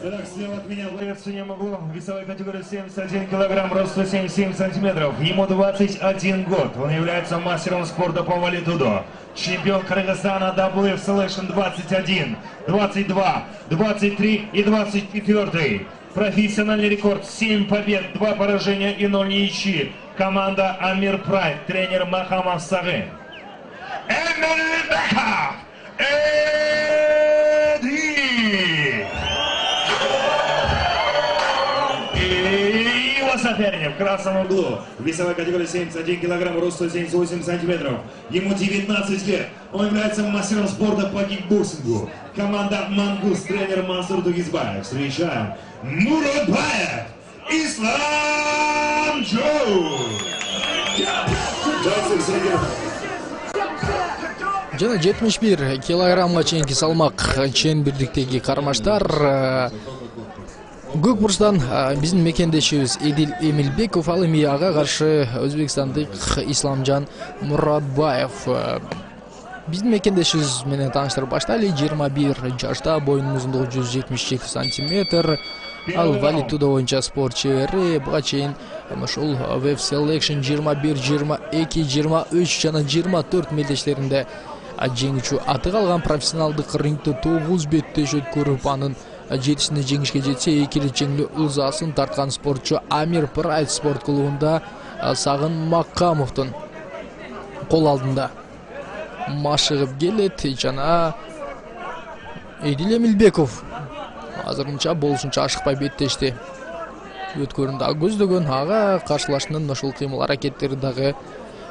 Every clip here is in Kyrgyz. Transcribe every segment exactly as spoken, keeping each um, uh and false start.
Итак, слева от меня боец не могу. Весовой категории семьдесят один килограмм, рост сто семьдесят семь сантиметров. Ему двадцать один год. Он является мастером спорта по валидудо. Чемпион Кыргызстана дабл ю эф Selection двадцать один, двадцать два, двадцать три и двадцать четыре. Профессиональный рекорд семь побед, два поражения и ноль ничьи. Команда Амир Прайд, тренер Махамов Сагы. Эмельбеков Эди! И его соперник в красном углу. Весовая категория семьдесят один килограмм, рост сто семьдесят восемь сантиметров. Ему девятнадцать лет. Он является мастером спорта по кикбоксингу. Команда Мангус, тренер Мансур Дугизбаев. Встречаем Муратбаев Ислам Джоу. Жана жетимиш бир килограммга чейинки салмак чембирдиктеги кармаштар көк бурчтан биздин мекендешибиз Эдил Эмилбеков, ал эми ага каршы өзбекстандык Исламжан Муратбаев. Биздин мекендешибиз менен тааныштырып баштайлы. жыйырма бир жашта, боюнун узундугу жүз жетимиш жети сантиметр. Ал валидудо боюнча спорт чебери. Буга чейин ушул дабл ю эф Selection жыйырма бир, жыйырма эки, жыйырма үч жана жыйырма төрт мелдештеринде жеңүүчү аты калган. Профессионалдык рингде тогуз беттеш өткөрүп, анын жетисинде жеңишке жетсе, эки рет жеңүү ызасын тарткан спортчу Амир Прайд спорт клубунда Сагын Маккамовдун кол алдында машыгып келет. Жана Эдил Эмилбеков азырынча болушунча ашыкпай беттешти өткөрүн дагы көздөгөн. Ага каршылашынын ошол кыймыл аракеттери дагы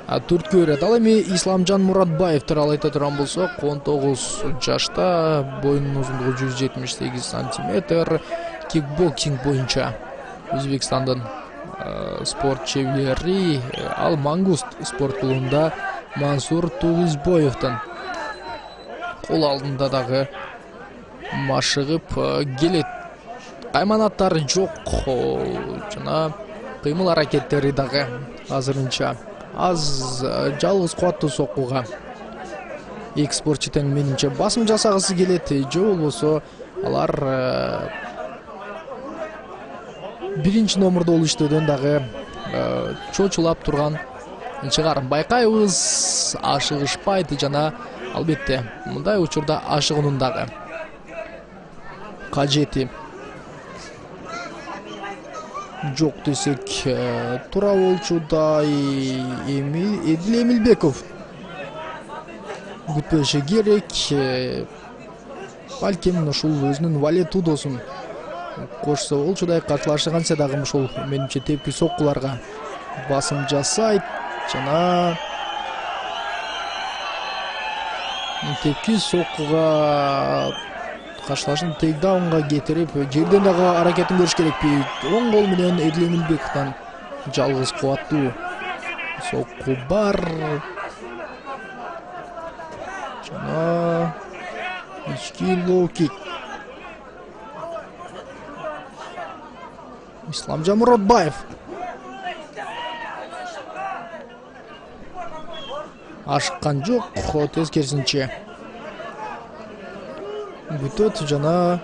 түрткү берет. Ал эми Исламжан Муратбаев тууралуу айта турган болсок, он тогуз жашта, боюнун узундугу жүз жетимиш сегиз сантиметр. Кикбоксинг боюнча Өзбекстандын спорт чебери. Ал Мангуст спорт клубунда Мансур Тугизбоевдун кол алдында дагы машыгып келет. Кайманаттары жок жана кыймыл аракеттери дагы азырынча аз. Жалгыз кубаттуу соккуга эки спортчу тең менимче басым жасагысы келет, же болбосо алар биринчи номурда болуштойдон дагы чочулап турган чыгар. Байкайбыз, ашыгышпайт жана албетте мындай учурда ашыгуунун дагы кажети жок десек туура болчудай. Эми Эдил Эмилбеков күтпөшү керек. Балким ушул өзүнүн валидудосун кошсо болчудай. Каршылашканча дагы ушул менимче тепки соккуларга басым жасайт жана тепки соккуга каршылашын тейкдаунга кетирип, жерден дагы аракетин көрүш керекпи. Оң кол менен Эдил Эмилбековдон жалгыз кубаттуу сокку бар. Жана ички лоу-кик. Исламжан Муратбаев ашыккан жок, тескерисинче бүтөт жана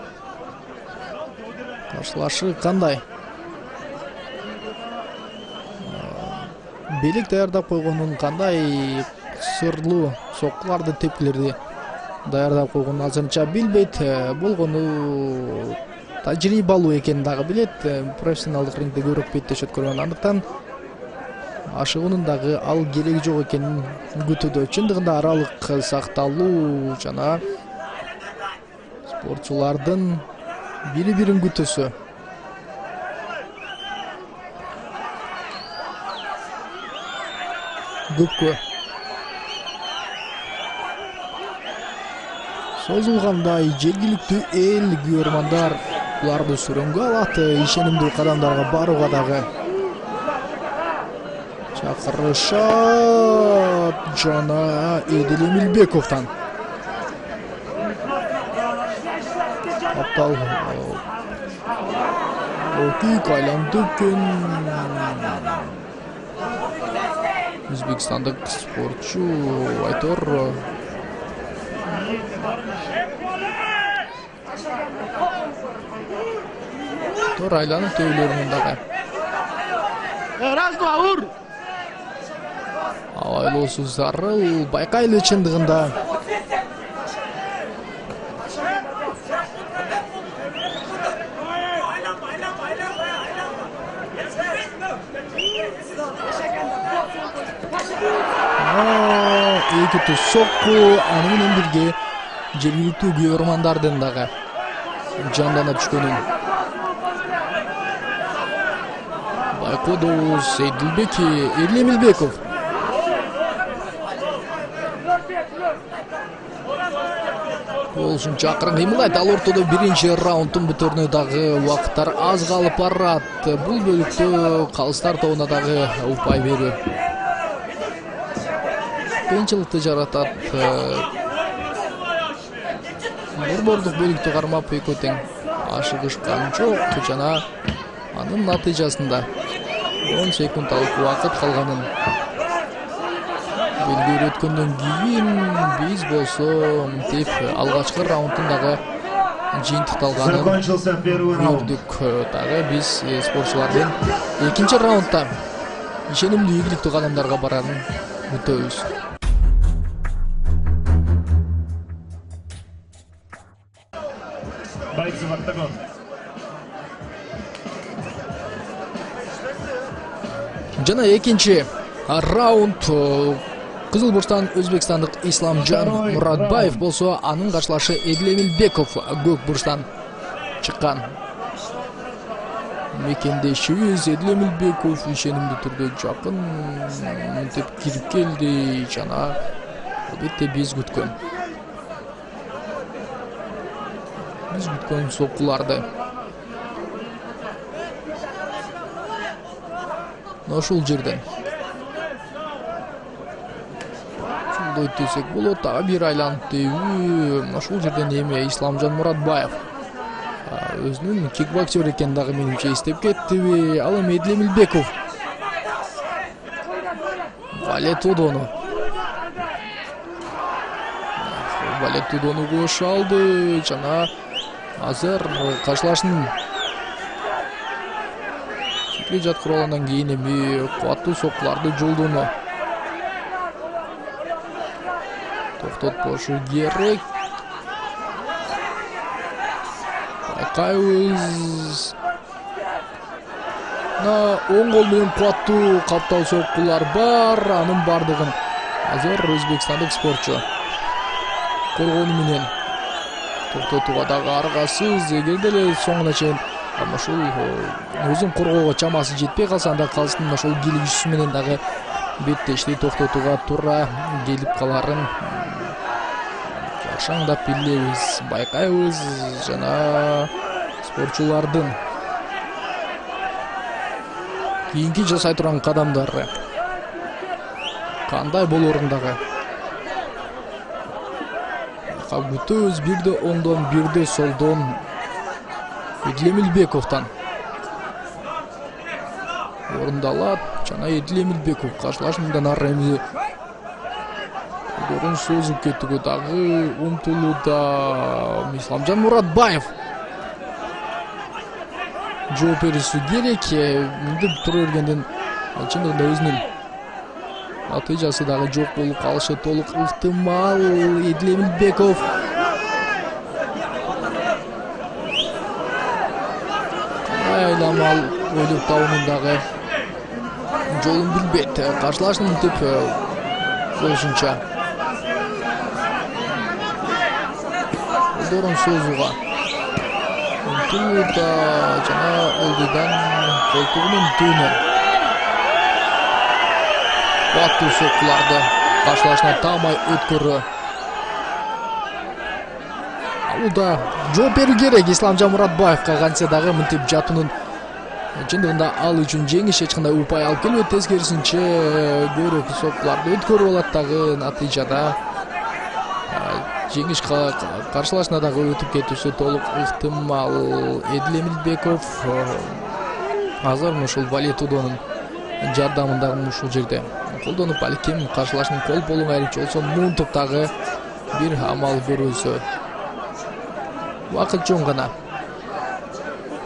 каршылашы кандай белек даярдап койгонун, кандай сырлуу соккуларды, тепкилерди даярдап койгонун азырынча билбейт. Болгону тажрыйбалуу экенин дагы билет. Профессионалдык рингде көбүрөөк беттеш өткөргөн, андыктан ашыгуунун дагы ал кереги жок экенин күтүүдө. Чындыгында аралык сакталуу жана спортчулардын бири-бирин күтөсү. Көпкө созулгандай жергиликтүү эл күйөрмандар буларды сүрөнгө алат. Ишенимдүү кадамдарга барууга дагы чакырышат. Жана Эдил Эмилбековдон аптал окук айланды экен. Өзбекстандык спортчу Айтор тор айланып төбөлөрүнүн дагы Раз, два, ур! Айлоосу зарыл байкайлы чындыгында. Эки түз сокку аны менен бирге жергиликтүү күйөрмандардын дагы жандана түшкөнүн байкоодобуз. Эдилбек Эдилемилбеков болушунча акырын кыймылдайт. Ал ортодо биринчи раунддун бүтөрүнө дагы убакыттар аз калып барат. Бул бөлүктө калыстар тобуна дагы упай берүү кыйынчылыкты жаратат. Борбордук бөлүктү кармап экөө тең ашыгышкан жок жана анын натыйжасында он секундалык убакыт калганын белгилеп өткөндөн кийин биз болсо мынтип алгачкы раунддун дагы жыйынтыкталганын көрдүк. Дагы биз спортчулардын экинчи раундда ишенимдүү ийгиликтүү кадамдарга барарын күтөбүз. Бойцов октагон. Жана экинчи раунд кызыл бурчтан өзбекстандык Исламжан Муратбаев болсо анын каршылашы Эдилемилбеков көк бурчтан чыккан. Мекендешибиз Эдилемилбеков ишенимдүү түрдө жакын мынтип кирип келди жана албетте биз күткөн биз күткөн соккуларды ошол жерден ушундай десек болот. Дагы бир айланып тийүү ошол жерден эми Исламжан Муратбаев өзүнүн кикбоксер экенин дагы менимче эстеп кеттиби. Ал эми Эдилемилбеков Валетудону Валетудону кошу алды жана азыр каршылашынын чекли жаткырып алгандан кийин эми кубаттуу соккуларды жолдону токтотпошу керек. Байкайбыз оң кол менен кубаттуу каптал соккулар бар. Анын бардыгын азыр өзбекстандык спортчу коргону менен токтотууга дагы аргасыз. Эгерде эле соңуна чейин ошол өзүн коргоого чамасы жетпей калса анда калсын ошол килигүүсү менен дагы беттешти токтотууга туура келип каларын жакшаңдап билебиз. Байкайбыз жана спортчулардын кийинки жасай турган кадамдары кандай болорун дагы күтөбүз. Бирде оңдон бирде солдон Эдилемилбековдон орундалат жана Эдилемилбеков каршылаш мындан ары эми колдорун созуп кетүүгө дагы умтулууда. Исламжан Муратбаев жооп берүүсү керек. Мынтип тура бергенден чындыгында өзүнүн натыйжасы дагы жок болуп калышы толук ыктымал. Эдилемилбеков айламал ойлоп табуунун дагы жолун билбейт. Каршылашын мынтип болушунча колдорун созууга умтулууда жана ылдыйдан колтугунун түбүнөн кубаттуу соккуларды каршылашына таамай өткөрүү алууда. Жооп берүү керек Исламжан Муратбаевга. Кантсе дагы мынтип жатуунун чындыгында ал үчүн жеңиш эч кандай упай алып келбейт. Тескерисинче көбүрөөк соккуларды өткөрүп алат дагы натыйжада жеңиш каршылашына дагы өтүп кетүүсү толук ыктымал. Эдилемилбеков азыр ушул Валетудонун жардамында ушул жерде колдонуп балким каршылашынын кол болуң айрыкча болсо муунтуп дагы бир амал көрүүсү убакыт жөн гана.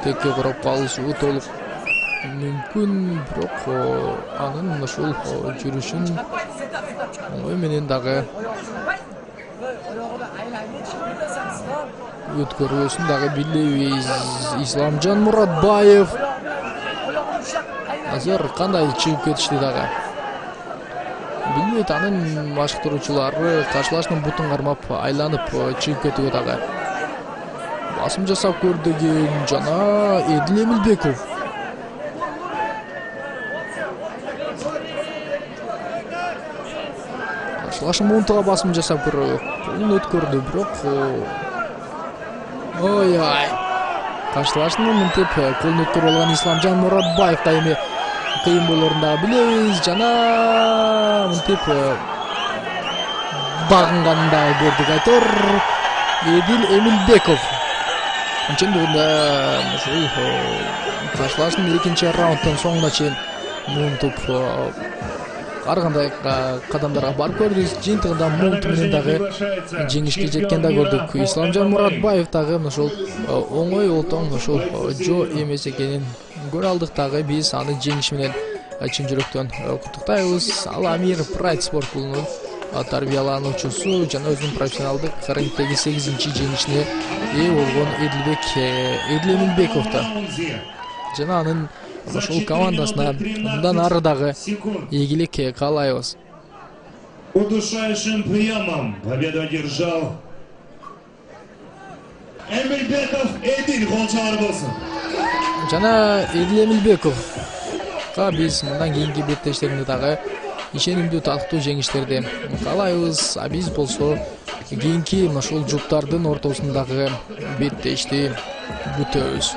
текке карап калышыбы толук мүмкүн, бирок анын ушул жүрүшүн оңой менен дагы өткөрүүсүн дагы билебиз. Исламжан Муратбаев азыр кандай чыгып кетишти дагы билбейт, анын башкаруучулары каршылаштын бутун кармап айланып чыгып кетүүгө дагы басым жасап көрдүгүн жана Эдил Эмилбеков каршылаштын муунтуга басым жасап көрдү, колун өткөрдү, бирок ой ой каршылаштын мынтип колун өткөрүп алган Исламжан Муратбаев да эми кыйын болорун дагы билебиз жана мынтип багынганын дагы көрдүк. Айтор Эдил Эмилбеков ошондо ушул каршылаштын экинчи раундтун соңуна чейин муунтуп ар кандай кадамдарга барып көрдү, жыйынтыгында муунту менен дагы жеңишке жеткенди көрдүк. Исламжан Муратбаев дагы ушул оңой олтоң ушул жоо эмес экенин көрө алдык дагы биз аны жеңиш менен чын жүрөктөн куттуктайбыз. Ал Амир Прайд спорт клубунун тарбиялануучусу жана өзүнүн профессионалдык рингдеги сегизинчи жеңишине ээ болгон Эдилбек Эдил Эмилбековду жана анын ушул командасына мындан ары дагы ийгилик каалайбыз. Удушающим приемом победу одержал Эмилбеков Эдил. Голчалар болсун. Жана Эдил Эмилбековга биз мындан кийинки беттештеринде дагы ишенимдүү талктуу жеңиштерди каалайбыз. А биз болсо кийинки ушул жуптардын ортосундагы беттешти күтөбүз.